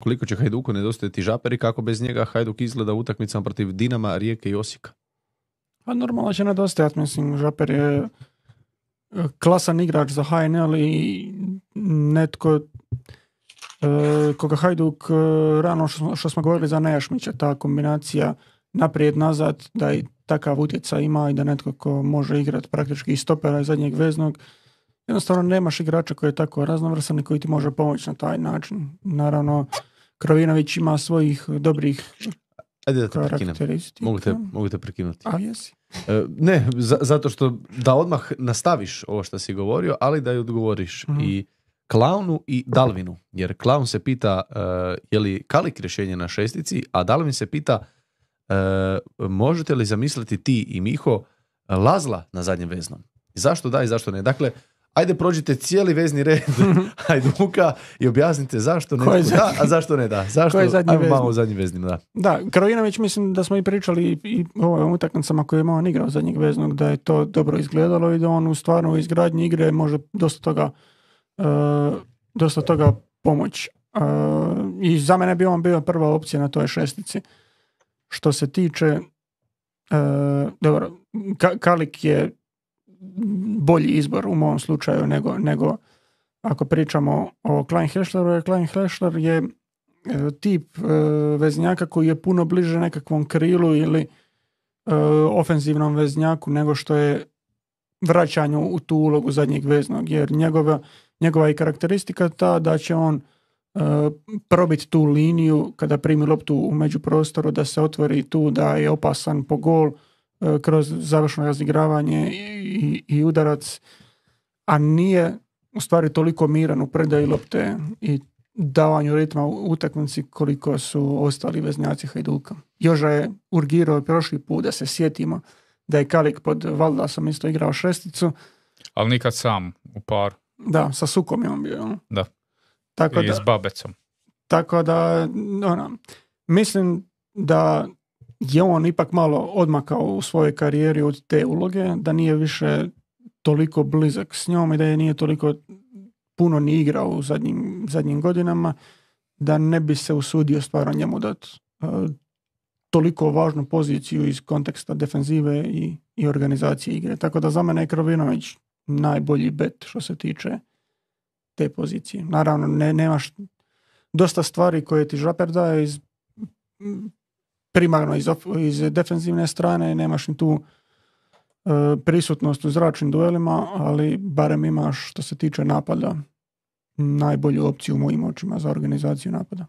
Koliko će Hajduku nedostajati Žaper i kako bez njega Hajduk izgleda u utakmicama protiv Dinama, Rijeke i Osijeka? Pa normalno će nedostajati, mislim, Žaper je klasan igrač za HNL i netko koga Hajduk rano što smo govorili za Nejašmića, ta kombinacija naprijed-nazad, da i takav utjecaj ima i da netko ko može igrati praktički i stopera i zadnjeg veznog, jednostavno nemaš igrača koji je tako raznovrsan i koji ti može pomoći na taj način. Naravno, Krovinović ima svojih dobrih Ajde da te karakteristika. Mogu te prekinuti. A jesi? Ne, zato što da odmah nastaviš ovo što si govorio, ali da i odgovoriš i Klaunu i Dalvinu. Jer Klaun se pita je li Kalik rješenje na šestici, a Dalvin se pita možete li zamisliti ti i Miho Lazla na zadnjem veznom? Zašto da i zašto ne? Dakle, ajde prođite cijeli vezni red Hajduka i objasnite zašto ne da, a zašto ne da. Zašto? Ajmo malo u zadnjim veznim, da. Da, Krovinović, mislim da smo i pričali i o ovim utakmicama koje je imao igrao zadnjeg veznog, da je to dobro izgledalo i da on u stvarno izgradnji igre može dosta toga pomoći. I za mene bi on bio prva opcija na toj šestici. Što se tiče dobro, Kalik je bolji izbor u mom slučaju nego ako pričamo o Klein-Hešleru. Klein-Hešler je tip veznjaka koji je puno bliže nekakvom krilu ili ofenzivnom veznjaku nego što je vraćanju u tu ulogu zadnjeg veznog, jer njegova je karakteristika ta da će on probiti tu liniju kada primi loptu u međuprostoru, da se otvori tu, da je opasan po gol kroz završno razigravanje i udarac, a nije u stvari toliko miran u predaji lopte i davanju ritma u utakmici koliko su ostali veznjaci Hajduka. Joža je urgirao prošli put, da se sjetimo da je Kalik pod Valdasom isto igrao šesticu. Ali nikad sam u paru. Da, sa Sukom je on bio. Da. Tako i s Babecom. Tako da, mislim da je on ipak malo odmakao u svojoj karijeri od te uloge, da nije više toliko blizak s njom i da je nije toliko puno ni igrao u zadnjim godinama, da ne bi se usudio stvarno njemu dati toliko važnu poziciju iz konteksta defenzive i organizacije igre. Tako da za mene je Krovinović najbolji bet što se tiče te pozicije. Naravno, nemaš dosta stvari koje ti Žaper daje primarno iz defenzivne strane, nemaš ni tu prisutnost u zračnim duelima, ali barem imaš što se tiče napada najbolju opciju u mojim očima za organizaciju napada.